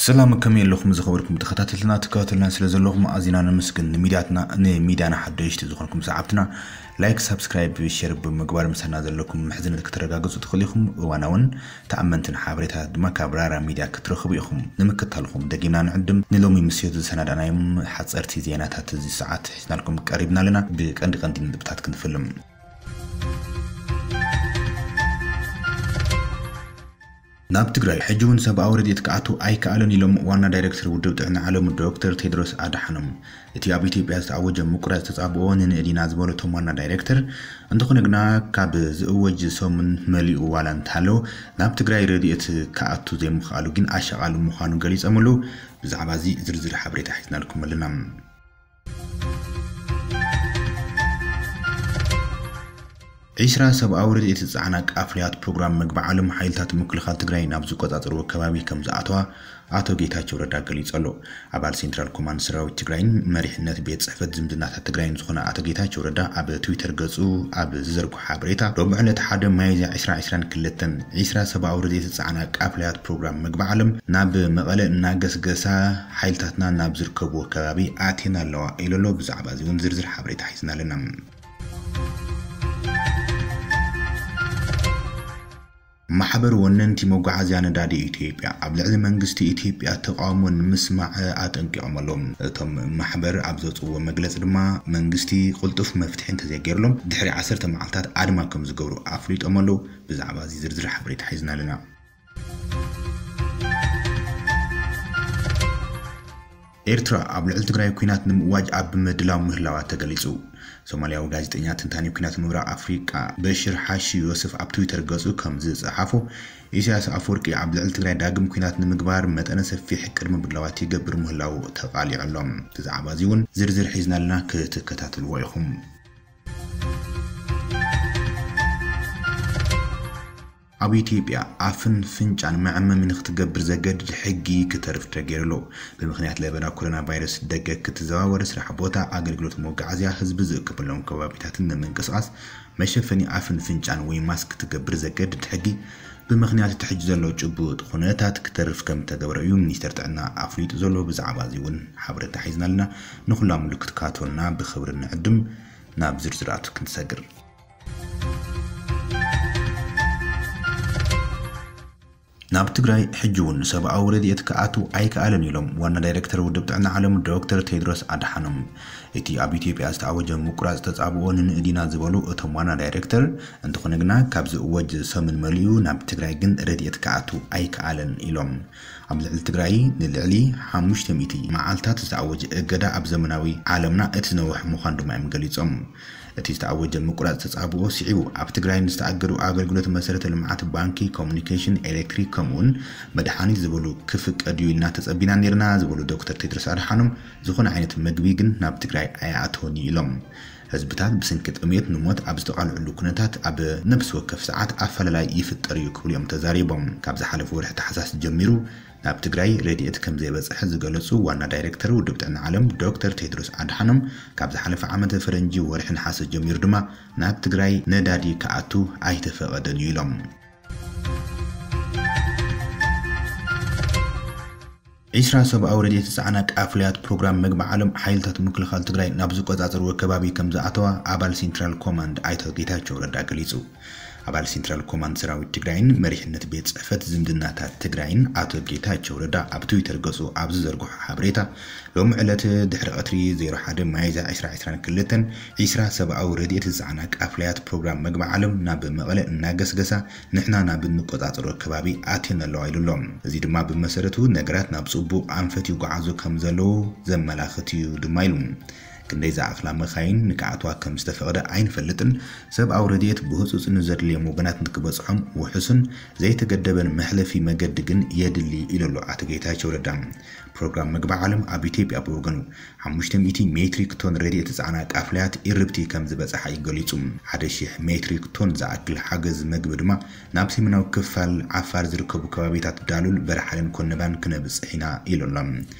ሰላም፣ ከመይ ኣለኹም ዝኸበርኩም ተኸታተልትና? ትከታተልና ስለ ዘለኹም ኣዚና ነመስግን። ንሚድያትና ንሚድያና ሓደሽቲ ዝኾንኩም ሰዓብትና ላይክ፣ ሳብስክራይብ፣ ሼር ብምግባር ምሳና ዘለኩም ምሕዝነት ከተረጋግጹ ትኽእሉ ኢኹም። እዋናውን ተኣመንትን ሓበሬታ ድማ ካብ ራራ ሚድያ ክትረኽቡ ኢኹም። ንምክታልኹም ደጊምና ንዕድም። ንሎሚ ምሽት ዝሰናዳናዮም ሓጸርቲ ዜናታት እዚ ሰዓት ሒዝናልኩም ቀሪብና ኣለና። ብቀንዲ ቀንዲ ነጥብታት ክንፍልም። ናብ ትግራይ ሕጂ እውን ሰብኣዊ ረድኤት ክኣቱ ኣይከኣልን ኢሎም ዋና ዳይሬክተር ውድብ ጥዕና ዓለም ዶክተር ቴድሮስ ኣድሓኖም። እቲ ኣብ ኢትዮጵያ ዝተኣወጀ ምቁራጽ ተጻብኦ ንንእድ ኢና ዝበሉ እቶም ዋና ዳይሬክተር፣ እንተኾነ ግና ካብ ዝእወጅ ሰሙን መሊኡ ዋላ እንተሃለወ ናብ ትግራይ ረድኤት ክኣቱ ዘይምኽኣሉ ግን ኣሻቓሊ ምዃኑ ገሊጾም ኣለዉ። ብዛዕባ እዚ ዝርዝር ሓበሬታ ሒዝናልኩም ኣለና። ዒስራ ሰብኣዊ ረድኤት ዝጸዓና ቃፍልያት ፕሮግራም መግቢ ዓለም ሓይልታት ምክልኻል ትግራይ ናብ ዝቆጻጸርዎ ከባቢ ከም ዝኣተዋ ኣቶ ጌታቸው ረዳ ገሊጹ ኣሎ። ኣባል ሴንትራል ኮማንድ ሰራዊት ትግራይን መሪሕነት ቤት ጽሕፈት ዝምድናታት ትግራይን ዝኾነ ኣቶ ጌታቸው ረዳ ኣብ ትዊተር ገጹ ኣብ ዝዘርግሖ ሓበሬታ፣ ሎሚ ዕለት ሓደ ሚያዝያ ዕስራ ዕስራን ክልተን፣ ዒስራ ሰብኣዊ ረድኤት ዝጸዓና ቃፍልያት ፕሮግራም መግቢ ዓለም ናብ መቐለ እናገስገሳ ሓይልታትና ናብ ዝርከብዎ ከባቢ ኣትየን ኣለዋ ኢሉ ኣሎ። ብዛዕባ እዚ እውን ዝርዝር ሓበሬታ ሒዝና ኣለና። ማሕበር ወነንቲ መጓዓዝያ ነዳዲ ኢትዮጵያ ኣብ ልዕሊ መንግስቲ ኢትዮጵያ ተቃውሞ ንምስማዕ ኣጠንቂቖም ኣለዉ። እቶም ማሕበር ኣብ ዘውፅእዎ መግለፂ ድማ መንግስቲ ቅልጡፍ መፍትሒ እንተዘይገይርሎም ድሕሪ ዓሰርተ መዓልታት ኣድማ ከም ዝገብሩ ኣፍሊጦም ኣለዉ። ብዛዕባ እዚ ዝርዝር ሓበሬታ ሒዝና ኣለና። ኤርትራ ኣብ ልዕሊ ትግራይ ኲናት ንምእዋጅ ኣብ ምድላው ምህላዋ ተገሊጹ። ሶማልያዊ ጋዜጠኛ፣ ተንታኒ ኲናት ምብራቕ ኣፍሪቃ በሽር ሓሺ ዮስፍ ኣብ ትዊተር ገጹ ከም ዝጸሓፎ፣ ኢሳያስ ኣፈወርቂ ኣብ ልዕሊ ትግራይ ዳግም ኲናት ንምግባር መጠነ ሰፊሕ ቅድመ ምድላዋት ይገብር ምህላዉ ተቓሊዑ ኣሎ። ብዛዕባ እዚ እውን ዝርዝር ሒዝና ኣለና፣ ክትከታተልዎ ኢኹም። ኣብ ኢትዮጵያ ኣፍን ፍንጫን መዐመሚ ንክትገብር ዘገድድ ሕጊ ክተርፍ ተገይሩ ኣሎ። ብምኽንያት ለበዳ ኮሮና ቫይረስ ደገ ክትዘዋወር፣ ስራሕ ቦታ፣ ኣገልግሎት መጓዓዝያ፣ ህዝቢ ዝእከበሎም ከባቢታትን ንምንቅስቓስ መሸፈኒ ኣፍን ፍንጫን ወይ ማስክ ክትገብር ዘገድድ ሕጊ ብምኽንያት እቲ ሕጂ ዘሎ ጭቡጥ ኩነታት ክተርፍ ከም ተገብረ እዩ ሚኒስተር ጥዕና ኣፍሊጡ ዘሎ። ብዛዕባ እዚ እውን ሓበሬታ ሒዝና ኣለና። ንኹላ ምሉእ ክትከታተሉና ብኽብሪ ንዕድም። ናብ ዝርዝራቱ ክንሰግር። ናብ ትግራይ ሕጂ እውን ሰብኣዊ ረድኤት ክኣቱ ኣይከኣልን ኢሎም ዋና ዳይሬክተር ውድብ ጥዕና ዓለም ዶክተር ቴድሮስ ኣድሓኖም። እቲ ኣብ ኢትዮጵያ ዝተኣወጀ ምቁራጽ ተጻብኦ ንንእድ ኢና ዝበሉ እቶም ዋና ዳይሬክተር፣ እንተኾነ ግና ካብ ዝእወጅ ሰሙን መሊኡ ናብ ትግራይ ግን ረድኤት ክኣቱ ኣይከኣልን ኢሎም። ኣብ ልዕሊ ትግራይ ንልዕሊ ሓሙሽተ ሚእቲ መዓልታት ዝተኣወጀ እገዳ ኣብ ዘመናዊ ዓለምና እቲ ዝነውሐ ምዃኑ ድማ እዮም ገሊጾም። እቲ ዝተኣወጀ ምቁራጽ ተጻብኦ ስዒቡ፣ ኣብ ትግራይ ንዝተኣገዱ ኣገልግሎት መሰረተ ልምዓት፣ ባንኪ፣ ኮሙኒኬሽን፣ ኤሌክትሪክ፣ ከምኡውን መድሓኒት ዝበሉ ክፍቀድ እዩ ኢልና ተጸቢና ነይርና ዝበሉ ዶክተር ቴድሮስ ኣድሓኖም፣ ዝኾነ ዓይነት መግቢ ግን ናብ ትግራይ ኣይኣተወን እዩ ኢሎም። ህዝብታት ብሰንኪ ጥሜት ንሞት ኣብ ዝተቓልዑሉ ኩነታት ኣብ ነፍሲ ወከፍ ሰዓት ኣፈላላይ ይፍጠር እዩ ክብሉ እዮም ተዛሪቦም። ካብ ዝሓለፈ ወርሒ ታሕሳስ ጀሚሩ ናብ ትግራይ ረድኤት ከም ዘይበጽሐ ዝገለጹ ዋና ዳይሬክተር ውድብ ጥዕና ዓለም ዶክተር ቴድሮስ ኣድሓኖም፣ ካብ ዝሓለፈ ዓመተ ፈረንጂ ወርሒ ነሓሰ ጀሚሩ ድማ ናብ ትግራይ ነዳዲ ክኣቱ ኣይተፈቐደን እዩ ኢሎም። ዒስራ ሰብኣዊ ረድኤት ዝጸዓና ቃፍልያት ፕሮግራም መግቢ ዓለም ሓይልታት ምክልኻል ትግራይ ናብ ዝቆጻጸርዎ ከባቢ ከም ዝኣተዋ ኣባል ሴንትራል ኮማንድ ኣይተ ጌታቸው ረዳ ገሊጹ። ኣባል ሴንትራል ኮማንድ ሰራዊት ትግራይን መሪሕነት ቤት ጽሕፈት ዝምድናታት ትግራይን ኣቶ ጌታቸው ረዳ ኣብ ትዊተር ገጹ ኣብ ዝዘርግሖ ሓበሬታ፣ ሎሚ ዕለት ድሕሪ ቀትሪ ዜሮ ሓደ ሚያዝያ ዕስራ ዕስራን ክልተን፣ ዒስራ ሰብኣዊ ረድኤት ዝጸዓና ቃፍልያት ፕሮግራም መግቢ ዓለም ናብ መቐለ እናገስገሳ ንሕና ናብ እንቆጻጸሮ ከባቢ ኣትየን ኣለዋ ኢሉ ኣሎ። እዚ ድማ ብመሰረቱ ነገራት ናብ ጽቡቕ ኣንፈት ይጓዓዙ ከም ዘለዉ ዘመላኽት እዩ ድማ ኢሉ። ክንደይ ዝኣኽላ መኻይን ንክኣትዋ ከም ዝተፈቕደ ኣይንፈልጥን። ሰብኣዊ ረድኤት ብህጹጽ ንዘድልዮም ወገናት ንክበጽሖም ውሑስን ዘይተገደበን መሕለፊ መገዲ ግን የድሊ ኢሉ ኣሎ ኣቶ ጌታቸው ረዳ። ፕሮግራም መግቢ ዓለም ኣብ ኢትዮጵያ ብወገኑ ሓሙሽተ ሚእቲ ሜትሪክ ቶን ረድኤት ዝጸዓና ቃፍልያት ኢርብቲ ከም ዝበጽሓ እዩ ገሊጹ። ሓደ ሺሕ ሜትሪክ ቶን ዝኣክል ሓገዝ መግቢ ድማ ናብ ሰሜናዊ ክፋል ዓፋር ዝርከቡ ከባቢታት ዳሉል፣ በርሓለን ኮነባን ክነብጽሕ ኢና ኢሉ ኣሎ።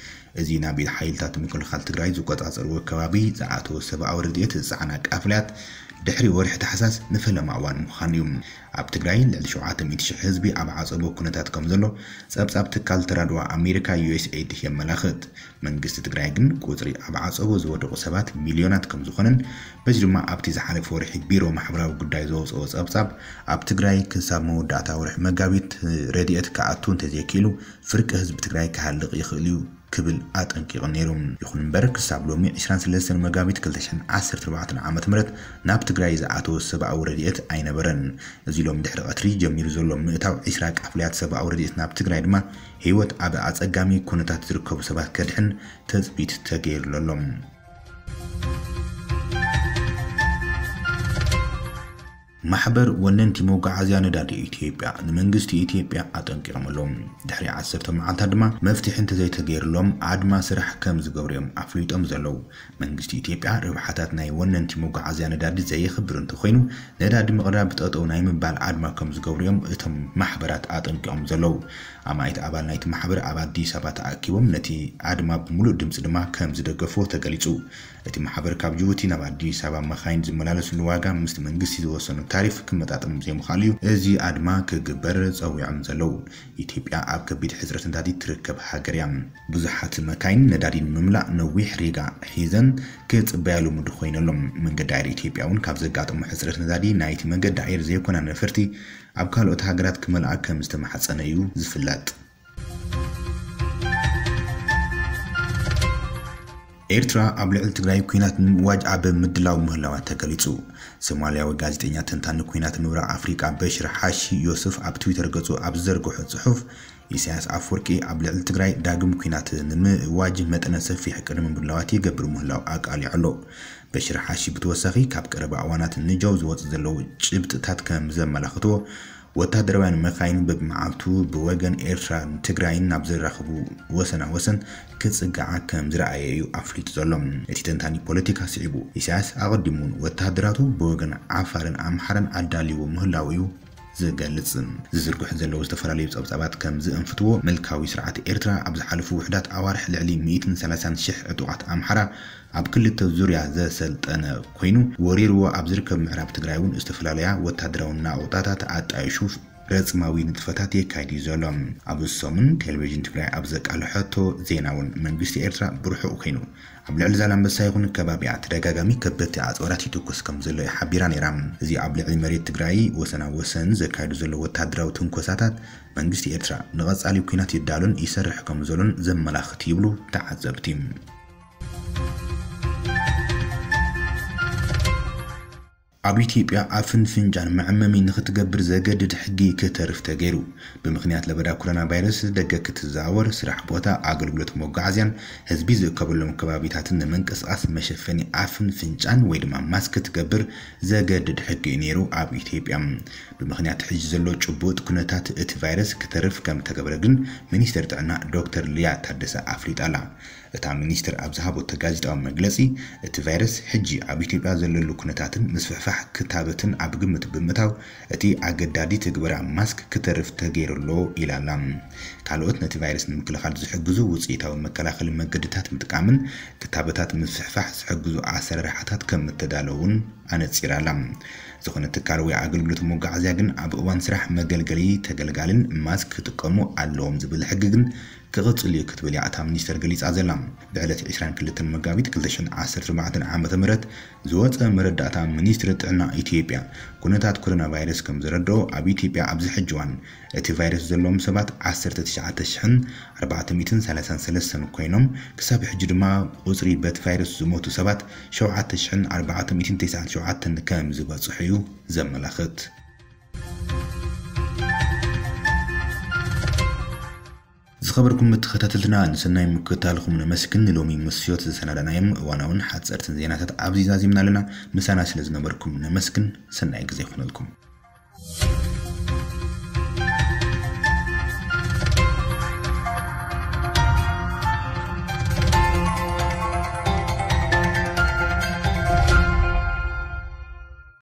እዚ ናብ ኢድ ሓይልታት ምክልኻል ትግራይ ዝቆጻጸርዎ ከባቢ ዝኣተወ ሰብኣዊ ረድኤት ዝጸዓና ቃፍላያት ድሕሪ ወርሒ ታሕሳስ ንፈለማ እዋን ምዃን እዩ። ኣብ ትግራይ ልዕሊ ሸውዓተ ሚእቲ ሺሕ ህዝቢ ኣብ ዓጸቦ ኩነታት ከም ዘሎ ጸብጻብ ትካል ተራድኦ ኣሜሪካ ዩ ኤስ ኤድ የመላኽት። መንግስቲ ትግራይ ግን ቁጽሪ ኣብ ዓጸቦ ዝወደቑ ሰባት ሚልዮናት ከም ዝኾነን በዚ ድማ ኣብቲ ዝሓለፈ ወርሒ ቢሮ ማሕበራዊ ጉዳይ ዘውፅኦ ጸብጻብ ኣብ ትግራይ ክሳብ መወዳእታ ወርሒ መጋቢት ረድኤት ክኣቱ እንተዘይክኢሉ ፍርቂ ህዝቢ ትግራይ ክሃልቕ ይኽእል እዩ ክብል ኣጠንቂቑ ነይሩ። ይኹን እምበር ክሳብ ሎሚ ዕስራን ሰለስተን መጋቢት ክልተ ሽሕን ዓሰርተ ኣርባዕተን ዓመተ ምህረት ናብ ትግራይ ዝኣተወ ሰብኣዊ ረድኤት ኣይነበረን። እዚ ሎም ድሕሪ ቀትሪ ጀሚሩ ዘሎ ምእታው ዕስራ ቃፍልያት ሰብኣዊ ረድኤት ናብ ትግራይ ድማ ህይወት ኣብ ኣጸጋሚ ኩነታት ዝርከቡ ሰባት ከድሕን ተጽቢት ተገይርሉ ኣሎ። ማሕበር ወነንቲ መጓዓዝያ ነዳዲ ኢትዮጵያ ንመንግስቲ ኢትዮጵያ ኣጠንቂቖም ኣለዉ። ድሕሪ ዓሰርተ መዓልታት ድማ መፍትሒ እንተዘይተገይርሎም ኣድማ ስራሕ ከም ዝገብሩ እዮም ኣፍሊጦም ዘለዉ። መንግስቲ ኢትዮጵያ ረብሓታት ናይ ወነንቲ መጓዓዝያ ነዳዲ ዘየኽብር እንተኾይኑ ነዳዲ ምቕራብ ጠጠው ናይ ምባል ኣድማ ከም ዝገብሩ እዮም እቶም ማሕበራት ኣጠንቂቖም ዘለዉ። ኣማኢት ኣባል ናይቲ ማሕበር ኣብ ኣዲስ ኣበባ ተኣኪቦም ነቲ ኣድማ ብምሉእ ድምፂ ድማ ከም ዝደገፍዎ ተገሊፁ። እቲ ማሕበር ካብ ጅቡቲ ናብ ኣዲስ ኣበባ መኻይን ዝመላለስሉ ዋጋ ምስቲ መንግስቲ ዝወሰኖ ታሪፍ ክመጣጠን ዘይምኽኣሉ እዩ እዚ ኣድማ ክግበር ጸዊዖም ዘለዉ። ኢትዮጵያ ኣብ ከቢድ ሕጽረት ነዳዲ ትርከብ ሃገር እያ። ብዙሓት መካይን ነዳዲ ንምምላእ ነዊሕ ሪጋ ሒዘን ክጽበያ ልሙድ ኮይነሎም። መንገዲ ኣየር ኢትዮጵያ እውን ካብ ዘጋጠሞ ሕጽረት ነዳዲ ናይቲ መንገዲ ኣየር ዘይኮና ነፈርቲ ኣብ ካልኦት ሃገራት ክመልኣ ከም ዝተማሕጸነ እዩ ዝፍለጥ። ኤርትራ ኣብ ልዕሊ ትግራይ ኲናት ንምእዋጅ ኣብ ምድላው ምህላዋ ተገሊጹ። ሶማልያዊ ጋዜጠኛ ተንታኒ ኲናት ምብራቕ ኣፍሪቃ በሽር ሓሺ ዮስፍ ኣብ ትዊተር ገጹ ኣብ ዝዘርግሖ ጽሑፍ፣ ኢሳያስ ኣፈወርቂ ኣብ ልዕሊ ትግራይ ዳግም ኲናት ንምእዋጅ መጠነ ሰፊሕ ቅድመ ምድላዋት ይገብር ምህላው ኣቃሊዑ ኣሎ። በሽር ሓሺ ብተወሳኺ ካብ ቀረባ እዋናት ንጃው ዝወጹ ዘለዉ ጭብጥታት ከም ዘመላኽትዎ፣ ወታደራውያን መካይን በብመዓልቱ ብወገን ኤርትራን ትግራይን ናብ ዘራኽቡ ወሰና ወሰን ክጽግዓ ከም ዝረኣየ እዩ ኣፍሊጡ ዘሎ። እቲ ተንታኒ ፖለቲካ ስዒቡ፣ ኢሳያስ ኣቐዲሙ እውን ወታደራቱ ብወገን ዓፋርን ኣምሓራን ኣዳልይዎ ምህላው እዩ ዝገልጽ። ዝዝርግሑ ዘለዉ ዝተፈላለዩ ጸብጻባት ከም ዝእንፍትዎ፣ ምልካዊ ስርዓት ኤርትራ ኣብ ዝሓለፉ ውሕዳት ኣዋርሕ ልዕሊ ሚእትን ሰላሳን ሽሕ ዕጡቓት ኣምሓራ ኣብ ክልተ ዙርያ ዘሰልጠነ ኮይኑ፣ ወሪርዎ ኣብ ዝርከብ ምዕራብ ትግራይ እውን ዝተፈላለያ ወታደራዊ ናቑጣታት ኣጣይሹ ረጽማዊ ንጥፈታት የካይድ እዩ ዘሎ። ኣብ ሰሙን ቴሌቪዥን ትግራይ ኣብ ዘቃለሐቶ ዜና እውን መንግስቲ ኤርትራ ብርሑቕ ኮይኑ ኣብ ልዕሊ ዛላምበሳ ይኹን ከባቢኣ ተደጋጋሚ ከበድቲ ኣጽዋራት ይትኩስ ከም ዘሎ እዩ ሓቢራ ነይራ። እዚ ኣብ ልዕሊ መሬት ትግራይ ወሰና ወሰን ዘካይዱ ዘሎ ወታደራዊ ትንኮሳታት መንግስቲ ኤርትራ ንቐጻሊ ኲናት ይዳሎን ይሰርሕ ከም ዘሎን ዘመላኽት ይብሉ ተዓዘብቲ። ኣብ ኢትዮጵያ ኣፍን ፍንጫን መዐመሚ ንክትገብር ዘገድድ ሕጊ ክተርፍ ተገይሩ። ብምኽንያት ለበዳ ኮሮና ቫይረስ ደገ ክትዘዋወር፣ ስራሕ ቦታ፣ ኣገልግሎት መጓዓዝያን ህዝቢ ዝእከበሎም ከባቢታትን ንምንቅስቃስ መሸፈኒ ኣፍን ፍንጫን ወይ ድማ ማስክ ክትገብር ዘገድድ ሕጊ እዩ ነይሩ ኣብ ኢትዮጵያ። ብምኽንያት ሕጂ ዘሎ ጭቡጥ ኩነታት እቲ ቫይረስ ክተርፍ ከም ተገብረ ግን ሚኒስትር ጥዕና ዶክተር ሊያ ታደሰ ኣፍሊጣ ኣላ። እታ ሚኒስትር ኣብ ዝሃበቶ ጋዜጣዊ መግለጺ፣ እቲ ቫይረስ ሕጂ ኣብ ኢትዮጵያ ዘለሉ ኩነታትን ምስፍሕፋሕ ክታበትን ኣብ ግምት ብምእታው፣ እቲ ኣገዳዲ ትግበራ ማስክ ክተርፍ ተገይሩ ኣሎ ኢላ ኣላ። ካልኦት ነቲ ቫይረስ ንምክልኻል ዝሕግዙ ውጽኢታዊ መከላኸሊ መገድታት ምጥቃምን ክታበታት ምስፍሕፋሕ ዝሕግዙ ኣሰራርሓታት ከም እተዳለዉ እውን ኣነጺራ ኣላ። ዝኾነ ትካል ወይ ኣገልግሎት መጓዓዝያ ግን ኣብ እዋን ስራሕ መገልገሊ ተገልጋልን ማስክ ክጥቀሙ ኣለዎም ዝብል ሕጊ ግን ክቕጽል እዩ ክትብል እያ እታ ሚኒስተር ገሊጻ ዘላ። ብዕለት ዕስራን ክልተን መጋቢት ክልተ ሽሕን ዓሰርተ ኣርባዕተን ዓመተ ምህረት ዝወጸ መረዳእታ ሚኒስትሪ ጥዕና ኢትዮጵያ፣ ኩነታት ኮሮና ቫይረስ ከም ዘረድኦ፣ ኣብ ኢትዮጵያ ኣብዚ ሕጂ እዋን እቲ ቫይረስ ዘለዎም ሰባት ዓሰርተ ትሽዓተ ሽሕን ኣርባዕተ ሚእትን ሰላሳን ሰለስተን ኮይኖም፣ ክሳብ ሕጂ ድማ ቁጽሪ በቲ ቫይረስ ዝሞቱ ሰባት ሸውዓተ ሽሕን ኣርባዕተ ሚእትን ተስዓን ሸውዓተን ከም ዝበጽሑ እዩ ዘመላኽት። ዝኸበርኩም ተኸታተልትና፣ ንሰናይ ምክትታልኩም ነመስግን። ንሎሚ ምስዮት ዝሰናዳናዮም እዋናውን ሓጸርትን ዜናታት ኣብዚ ዛዚምና ኣለና። ምሳና ስለ ዝነበርኩም ነመስግን። ሰናይ ግዜ ይኹነልኩም።